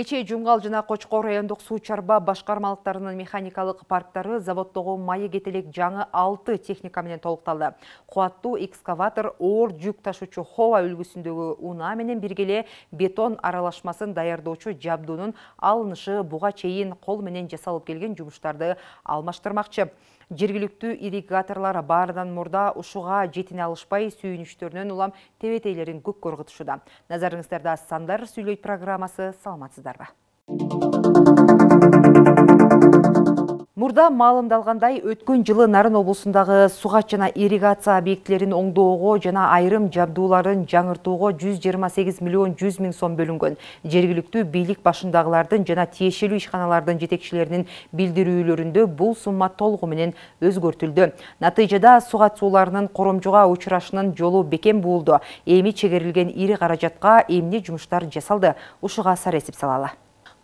Кечээ Жумгал жана Кочкор райондук суу чарба башкармалыктарынын механикалык парктары заводдогу майы кетелек жаңы 6 техника менен толукталды. Кубаттуу экскаватор оор жүк ташуучу Хова үлгүсүндөгү унаа менен биргеле бетон аралашмасын даярдоочу жабдуунун алынышы буга чейин кол менен жасалып келген жумуштарды алмаштырмакчы. Жергиликтүү ирригаторлар баарынан мурда ушуга жетине алышпай сүйүнүчтөрүнөн улам тебетейлерин көккө ыргытышууда. Назарыңыздарда Сандар сүйлөйт программасы, саламатсыздарбы? Мурда маалымдалгандай, өткөн жылы Нарын облусундагы сугат жана ирригация объектилерин оңдоого жана айрым жабдууларын жаңыртууга 128 миллион 100 миң сом бөлүнгөн. Жергиликтүү бийлик башындагылардын жана тиешелүү ишканалардын жетекчилеринин билдирүүлөрүндө бул сумма толугу менен өзгөртүлдү. Натыйжада сугат сууларынын коромжуга учурашынын жолу бекем буулду. Эми чегерилген ири каражатка эмне жумуштар жасалды? Ушуга сарэсип салалы.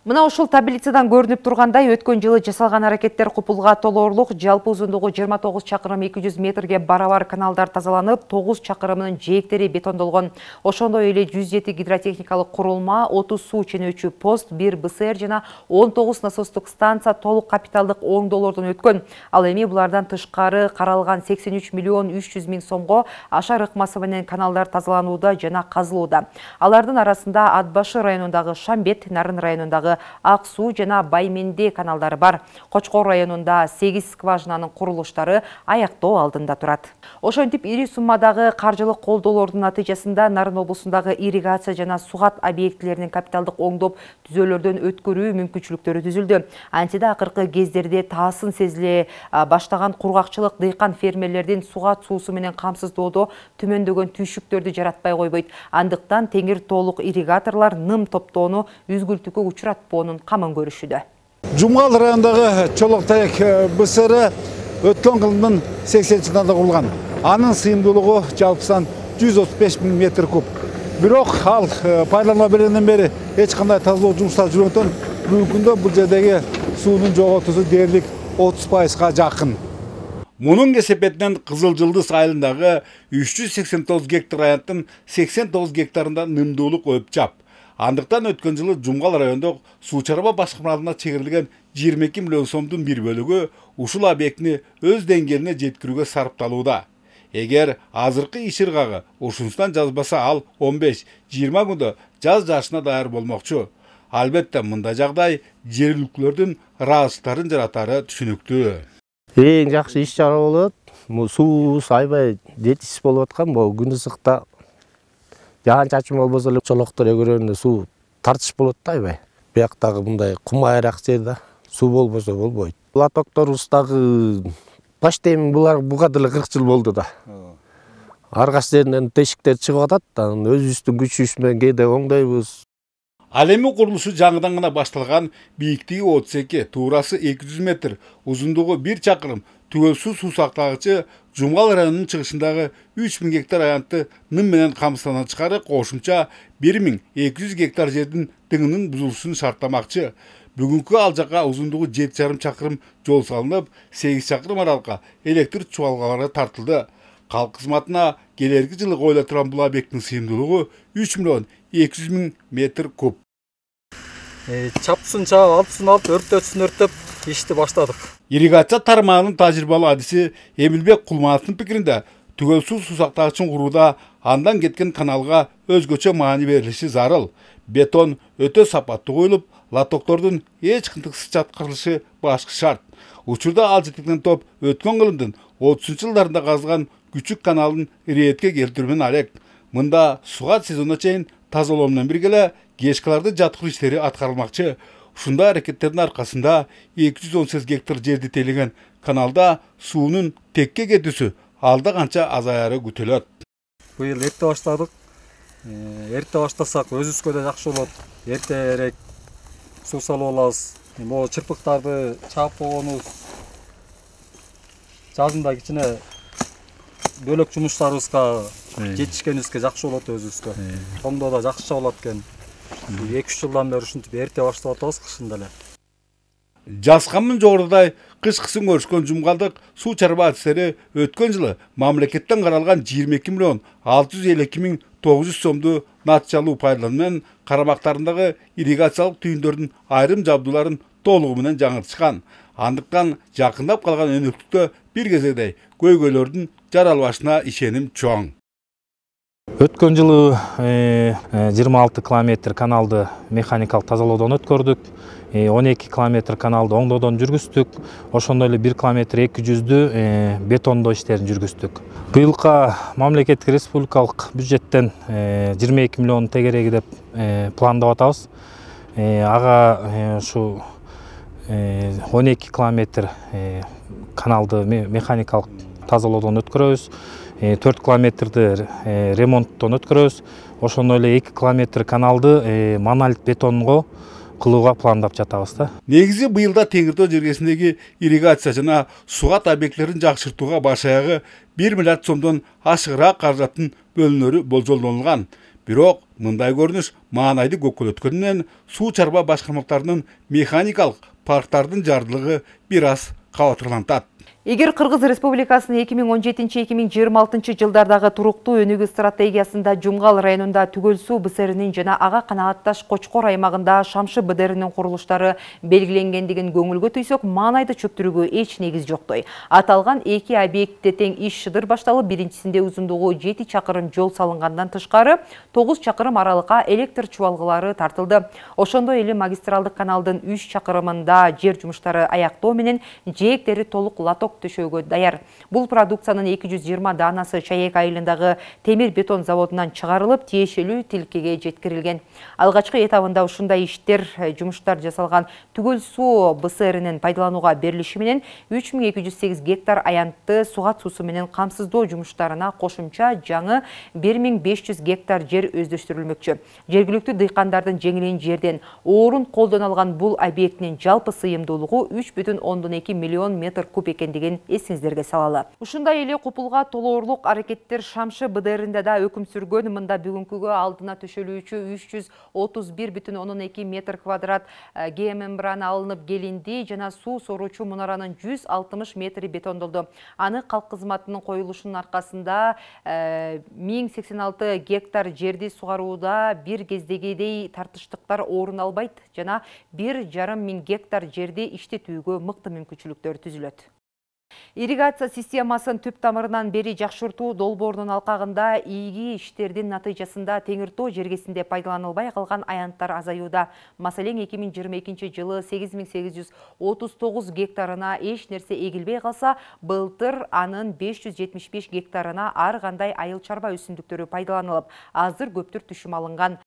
Мына ушул таблицадан көрүнүп тургандай, өткөн жылы жасалган аракеттер купулга толоорлук, жалпы узундугу 29 чакырым 200 метрге барабар каналдар тазаланып, 9 чакырымынын жээктери бетондолгон. Ошондой эле 107 гидротехникалык курулма, 30 суу ченөөчү пост, 1 БСР жана 19 насостук станция толук капиталдык оңдоолордон өткөн. Ал эми булардан тышкары каралган 83 миллион 300 миң сомго ашар ыкмасы менен каналдар тазаланууда жана казылууда. Алардын арасында Ат башы районундагы Шамбет, Нарын районундагы Ак суу жана Байменде каналдары бар. Кочкор районунда 8 скважинанын курулуштары аяктоо алдында турат. Ошентип ири суммадагы каржылык колдоолордун натыйжасында Нарын облусундагы ирригация жана сугат объектилеринин капиталдык оңдоп түзөөлөрдөн өткөрүү мүмкүнчүлүктөрү түзүлдү. Антида акыркы кездерде таасын сезиле баштаган кургакчылык дыйкан фермерлердин сугат суусу менен камсыздоодо түмөндөгөн түйшүктөрдү жаратпай койбойт. Андыктан теңир толук ирригаторлор ным топтоону үзгүлтүккө учуратпоонун камын көрүшүдө. Жумгал районундагы Чолоктаек БСР өткөн жылдын 80-жылдарында курулган. Анын сыйымдуулугу жалпысынан 135 миң метр куб. Бирок ал пайдаланууга бергенден бери эч кандай тазалоо жумуштары жүргөндөн бүгүнкү күндө бул жердеги суунун жоготуусу дээрлик 30%га жакын. Мунун кесепетинен Кызыл Жылдыз айылындагы 389 гектар аянттын 89 гектарында нымдуулук өпчап. Андыктан өткөн жылы Жумгал райондук суу чарба башкармаларына чегирилген 22 миллион сомдун бир бөлүгү ушул объектини өз деңгээлине жеткирүүгө сарпталууда. Эгер азыркы иш ыргагы ушунусунан жазбаса, ал 15-20 күндө жаз жаашына даяр болмокчу. Албетте мындай жагдай жергиликтүүлөрдүн ыраазычылыктарын жаратары түшүнүктүү. Эң жакшы иш чара болот. Суу айбай жетишсиз болуп аткан. Бул күн ысыкта жаан чачым болбосо эле Чолоктор өгөрөнүндө суу тартыш болот да айбай. Бияктагы мындай кум айрак жерде суу болбосо болбойт. Лотокторубуздагы почти буга деле 40 жыл болду да. Аргаш жеринен тешиктер чыгып атат, өзүбүздүн күчүбүз менен кээде оңдойбуз. Ал эми курулушу жаңыдан гана башталган, бийиктиги 32, туурасы 200 метр, узундугу 1 чакырым түгөлсүз суу сактагычы Жумгал районунун чыгышындагы 3000 гектар аянтты ным менен камсыздана чыгары кошумча 1200 гектар жердин дыңынын бузулушун шарттамакчы. Бүгүнкү ал жака узундугу 7,5 чакырым жол салынып, 8 чакырым аралыкка электр чубалгалары тартылды. Калк кызматына келерки жылы коюла турган бул объекттин сыйымдуулугу 3 миллион 200 миң метр куб. Чапсын чаап, алтысын алып, өрттөтсүн өрттөп ишти баштадык. Ирригация тармагынын тажрыйбалуу адиси Эмилбек Кулмановдун пикиринде, түгөлсүз суу сактагычын курууда андан кеткен каналга өзгөчө маани берилиши зарыл. Бетон өтө сапаттуу коюлуп, лотоктордун эч кынтыксыз жаткырылышы башкы шарт. Учурда ал жетектен топ өткөн кылымдын 30-жылдарында казылган күчүк каналын иретке келтирүүнүн алек. Мында сугат сезонуна чейин тазалоо менен биргеле гешкаларды жаткыруу иштери аткарылмакчы. Ушундай аракеттердин аркасында 218 гектар жерди тейлеген каналда суунун текке кетүүсү алда канча азаяры күтүлөт. Быйыл эрте баштадык. Эрте баштасак өзүбүзгө да жакшы болот. Эртерээк суу салып алабыз. Могу чырпыктарды чаап койгонубуз жазында кичине бөлөк жумуштарыбызга жетишкенибизге жакшы болот өзүбүзгө. Томдо да жакшыча болот экен. 2-3 жылдан бери ушинтип эрте баштап атабыз кышында эле. Жазганмын жогорудагы кышкысын көрүшкөн жумгалдык суу чарба адистери өткөн жылы мамлекеттен каралган 22 миллион 652 миң 900 сомду натыйжалуу пайдалануу менен карабактарындагы ирригациялык түйүндөрдүн айрым жабдууларын толугу менен жаңыртышкан. Андыктан жакындап калган өнөктүктө бир кезегдей көйгөйлөрдүн жаралбашына ишеним чоң. Өткөн жылы 26 километр каналды механикалык тазалоодон өткөрдүк. 12 километр каналды оңдоодон жүргүздүк. Ошондой эле 1 километр 200-дүү бетондоо иштерин жүргүздүк. Быйылка мамлекеттик республикалык бюджеттен 22 миллион тегереги деп пландап атабыз. Ага ушу 12 километр каналды механикалык тазалоодон өткөрөбүз. 4 километрди ремонттон өткөрөбүз. Ошондой эле 2 километр каналды монолит бетонго кылууга пландап жатабыз да. Негизи быйылда Теңиртөө жергесиндеги ирригация жана сугат объектилерин жакшыртууга баш аягы 1 миллиард сомдон ашыгыраак каражаттын бөлүнөрү болжолдонулган. Бирок мындай көрүнүш маанайды көккөлөткөнү менен суу чарба башкармалыктарынын механикалык парктардын жардылыгы бир аз кабатырлантат. Эгер Кыргыз Республикасынын 2017-2026 жылдардагы туруктуу өнүгүү стратегиясында Жумгал районунда Түгөл суу БСРинин жана ага канаатташ Кочкор аймагында Шамшы БДРинин курулуштары белгиленгендигин көңүлгө түйсөк, маанайды чөптүрүүгө эч негиз жоктой. Аталган эки объектте тең иш шыдыр башталып, биринчисинде узундугу 7 чакырым жол салынгандан тышкары 9 чакырым аралыкка электр чубалгылары тартылды. Ошондой эле магистралдык каналдын 3 чакырымында жер жумуштары аяктоо менен жээктери толук лоток төшөөгө даяр. Бул продукциянын 220 данасы Чаек айылындагы темир бетон заводунан чыгарылып, тиешелүү тилкеге жеткирилген. Алгачкы этабында ушундай иштер, жумуштар жасалган Түгөл суу БСРинин пайдаланууга берилиши менен 3208 гектар аянтты сугат суусу менен камсыздоо жумуштарына кошумча жаңы 1500 гектар жер өздөштүрүлмөкчү. Жергиликтүү дыйкандардын жеңилин жерден орун колдоно алган бул объектинин жалпы сыйымдуулугу 3,2 миллион метр куб экендигин эсиңиздерге салалы. Ушундай эле купулга толоорлук аракеттер Шамшы БДРинде да өкүм сүргөн. Мында бүгүнкүгө алдына төшөлүүчү 331,2 метр квадрат геомембрана алынып келинди жана суу соруучу мунаранын 160 метри бетондолду. Аны калк кызматынын коюлушунун аркасында 1086 гектар жерди сугарууда бир кездегидей тартыштыктар орун албайт жана 1,5 миң гектар жерди иштетүүгө мыкты мүмкүнчүлүктөр түзүлөт. Ирригация системасын түп тамырынан бери жакшыртуу долбоорунун алкагында ийги иштердин натыйжасында Теңиртөө жергесинде пайдаланылбай калган аянттар азаюуда. Маселен, 2022 жылы 8839 гектарына эч нерсе эгилбей калса, былтыр анын 575 гектарына ар кандай айыл чарба өсүмдүктөрү пайдаланылып, азыр көптүр түшүм алынган.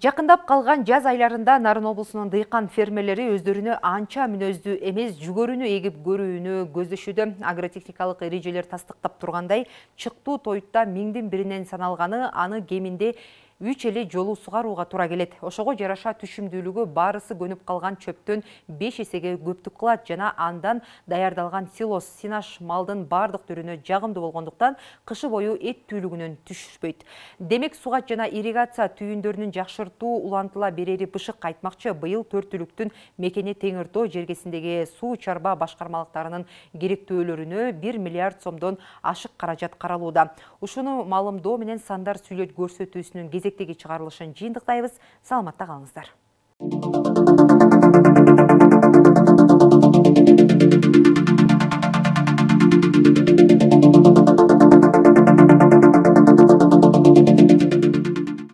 Жакындап калган жаз айларында Нарын облусунун дыйкан фермерлери өздөрүнө анча мүнөздүү эмес жүгөрүнү эгип көрүүнү көздөшүүдө. Агротехникалык эрежелер тастыктап тургандай, чыктуу тойтта миңдин биринен саналганы аны кеминде 3 эле жолу сугарууга туура келет. Ошого жараша түшүмдүүлүгү барысы көнүп калган чөптөн 5 эсеге көптүк кылат жана андан даярдалган силос, синаш малдын бардык түрүнө жагымдуу болгондуктан кышы бою эт түйлүгүнөн түшпөйт. Демек, сугат жана ирригация түйүндөрүнүн жакшыртуу улантыла берери бышык айтмакчы. Быйыл 4 түлүктүн мекени Теңиртөө жергесиндеги суу чарба башкармалыктарынын керектөөлөрүнө 1 миллиард сомдон ашык каражат каралууда. Ушуну маалымдоо менен сандар сүйлөт көрсөтүүсүнүн кезектеги чыгарылышын жыйынтыктайбыз. Саламатта калыңыздар.